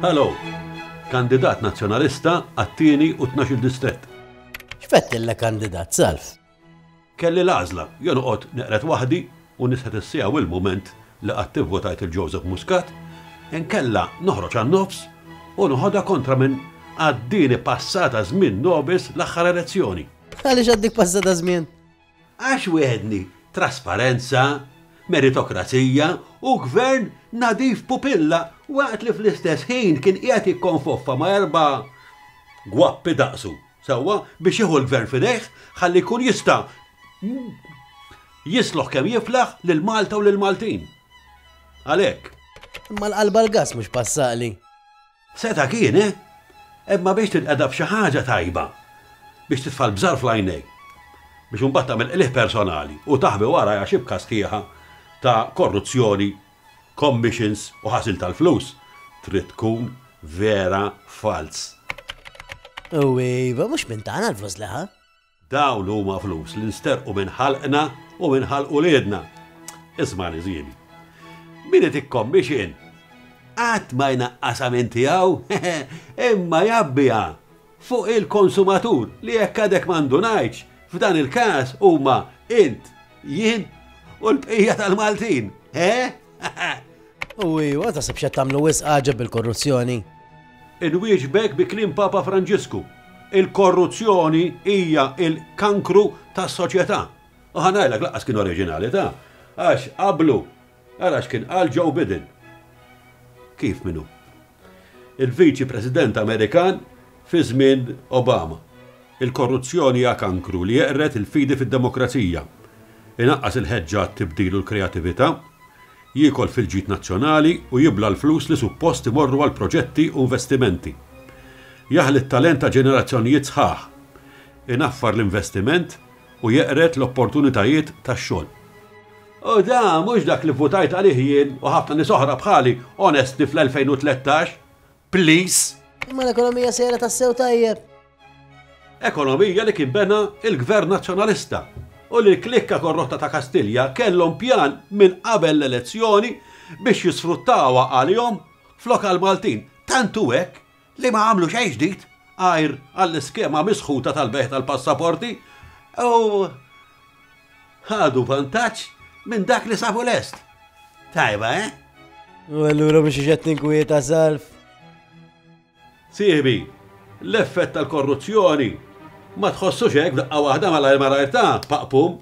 Hello! Kandidat Nazzjonalista għat-tieni u 12-il distrett. X'fettillek kandidat, Salv? Kelli l-għażla, jew noqgħod neqred waħdi u nisħet is-siegħa u l-mument li qatt ivvotajt il Joseph Muscat, inkella noħroġ għan-nofs u noħodha kontra min għaddieni passata żmien nobis l-aħħar elezzjoni. Għaliex għaddik passata żmien? Għax wegħedni trasparenza, meritokrazija u gvern nadif pupilla waqt li fl-istess ħin kien qiegħed jikkonfoffa ma' erba' gwappi daqsu. Sewwa, biex jieħu l-gvern f'idejh ħalli jkun jista' jisloħ kemm jiflaħ lil Malta u lill-Maltin. Għalhekk. Imma l-qalba l-gass mhux passaqli. Seta' kien, eh? Imma biex tinqeda b'xi ħaġa tajba, biex titfa' l-bżar fl-għajnejn, biex imbagħad tagħmel qligħ personali u taħbi warajha xibka sħiħa ta' korruzzjoni, commissions u ħasil tal-flus, trid tkun vera falz. U iva, mhux minn tagħna l-flus li ħa. Dawn huma flus li nsterqu minn ħalqna u minn ħalq uliedna. Ismagħni żieni. Min itik commission qatt ma jnaqqasha minn tiegħu, imma jgħabbiha fuq il-konsumatur li jekk għadek ma ndunajtx, f'dan il-każ huma int, jien u l-bqija tal-Maltin. Eh? U iva, taħseb x'qed tagħmlu wisq għaġeb bil-korruzzjoni? Inwieġbek bi kliem Papa Franġisku, il-korruzzjoni hija l-kankru tas-soċjetà. U ħa ngħidlek lanqas kien oriġinali ta' għax qablu ara x'kien qal Joe Biden. Kif min hu? Il-Viċi President Amerikan fi żmien Obama. Il-korruzzjoni hija kankru li jeqred il-fidi fid-demokrazija, inaqqas il-ħeġġa għat-tibdil u l-kreatività, jiekol fil-ġid nazzjonali u jibla' l-flus li suppost imorru għal proġetti u investimenti. Jaħli t-talent ta' ġenerazzjonijiet sħaħ, inaffar l-investiment u jeqred l-opportunitajiet tax-xogħol. U da mhux dak li vvutajt għalih jien u ħafna nies oħra bħali onesti fl-2013. Please! Imma l-ekonomija sejra tassew tajjeb. Ekonomija li kien bena il-Gvern Nazzjonalista u li l-klikka korrotta ta' Kastilja kellhom pjan minn qabel l-elezzjoni biex jisfruttawha għalihom flok għall-Maltin. Tant hu hekk li ma għamlu xejn ġdid għajr għall-iskema misħuta tal-bejgħ tal-passaporti u ħadu vantaġġ minn dak li sabu lest. Tajba, eh? U allura mhux qed tinkwieta Salv. Sieħbi, l-effett tal-korruzzjoni ma tħossux hekk f'daqqa waħda malajr malajr ta' paqpum.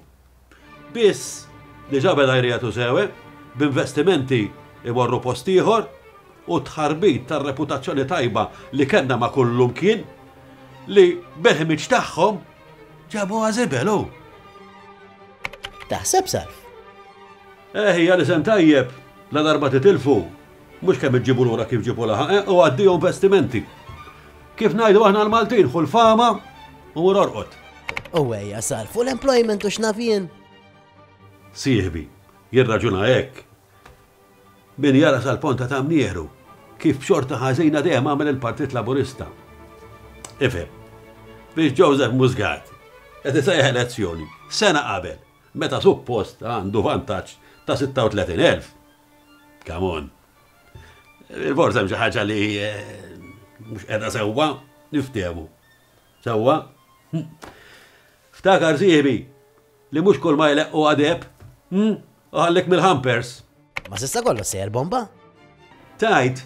Biss, diġà beda jriegħtu sew, b'investimenti jmorru post ieħor u t-tħarbit tar-reputazzjoni tajba li kellna ma' kullumkien, li bil-ħmiġ tagħhom ġabuha żibel hu. Taħseb, Salv? Eh, hija l-isem tajjeb, ladarba titilfu, mhux kemm iġġibu lura kif ġibu laħaq, eh, u addio investimenti. Kif ngħidu aħna l-Maltin, ħu l-fama u mur orqod. U ejja sar fuq l-employment u x'naf jien. Sieħbi, jirraġuna hekk. Min jara sal-ponta ta' mnieħru, kif b'xorta ħażina dejjem għamel il-Partit Laburista. Ifhem, biex Joseph Muscat qed isejjaħ elezzjoni sena qabel meta suppost għandu vantaġġ ta' 36,000. Come on. Forse hemm xi ħaġa li eh, mhux qiegħda sewwa, niftehmu. Sewwa? Hm. Ftakar sieħbi li mhux kull ma jleqqu għadeb, hm? U ħallik mill-hampers. Ma s'issa kollox sejjer bomba. Tajt,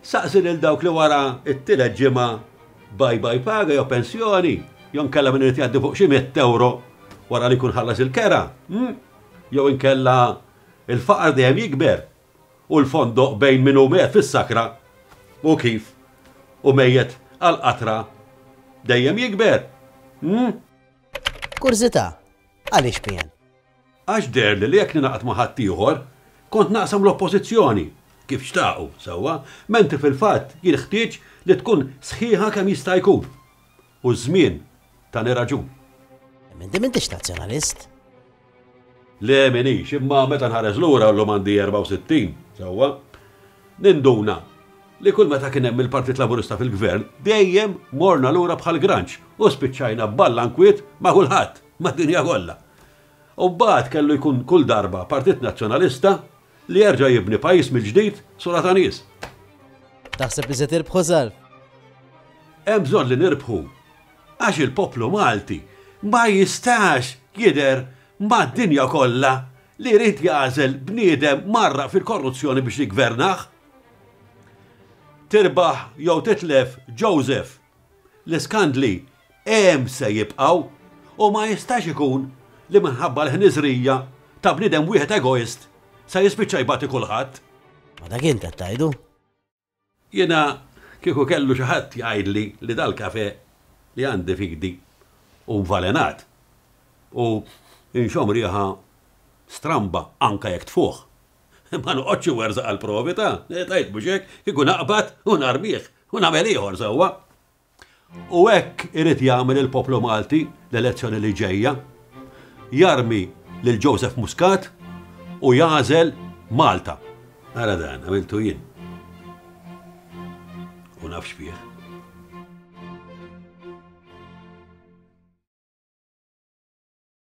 saqsi lil dawk li wara it-tielet ġimgħa bye bye paga jew pensjoni, jew inkella min irid jgħaddi fuq xi mitt ewro wara li jkun ħallas il-kera, hm? Jew inkella il-faqar dejjem jikber u l-fondoq bejn min hu mejjet fis-sakra u kif u mejjet għall-qatra dejjem jikber. Hm? Kurżità, għaliex PN? Għax deherli li jekk ningħaqad ma' ħaddieħor, kont naqsam l-Oppożizzjoni, kif xtaqu, sewwa, mentri fil-fatt jinħtieġ li tkun sħiħa kemm jista' jkun. U ż-żmien tani raġun. Imma inti m'intix Nazzjonalist. Le m'iniex, imma meta nħares lura, llum għandi 64, sewwa, ninduna li kull meta kien hemm il-Partit Laburista fil-Gvern, dejjem morna lura bħal granċ u spiċċajna b'balla nkwiet ma' kulħadd, mad-dinja kollha. U mbagħad kellu jkun kull darba Partit Nazzjonalista li jerġa' jibni pajjiż mill-ġdid sura ta' nies. Taħseb li se tirbħu Salv? Hemm bżonn li nirbħu għax il-poplu Malti ma jistax jidher mad-dinja kollha li jrid jagħżel bniedem mgħarraq fil-korruzzjoni biex jiggvernah. Tirbaħ jew titlef Joseph, l-iskandli hemm se jibqgħu u ma jistax ikun li minħabba l-ħniżrija ta' bniedem wieħed egoist se jispiċċa jbati kulħadd. Ma dak int qed tgħidu. Jiena kieku kellu xi ħadd jgħidli li dal-kafè li għandi f'idi hu nvalenat u nxomm riħa stramba anke jekk tfuħ. Ma noqgħodx inwerżaq għall-provi ta', tgħid mhux hekk, kieku naqbad u narmih u nagħmel ieħor sewwa. U hekk irid jagħmel il-poplu Malti l-elezzjoni li ġejja. Jarmi lil Joseph Muscat u jagħżel Malta. Ara dan, għamiltu jien. U naf x'fih.